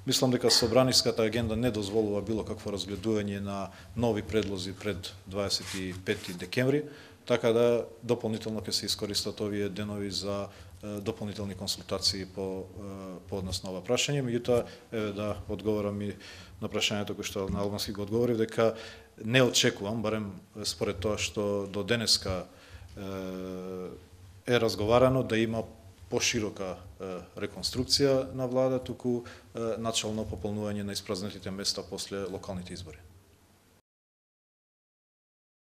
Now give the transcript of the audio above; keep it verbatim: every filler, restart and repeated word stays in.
Мислам дека собраниската агенда не дозволува било какво разгледување на нови предлози пред дваесет и пети декември, така да дополнително ќе се искористат овие денови за дополнителни консултации по по однос на ова прашање. Меѓутоа, еве да одговорам и на прашањето кој што на албански го одговорив, дека не очекувам, барем според тоа што до денеска е разговарано, да има поширока реконструкција на влада, туку начално пополнување на испразнетите места после локалните избори.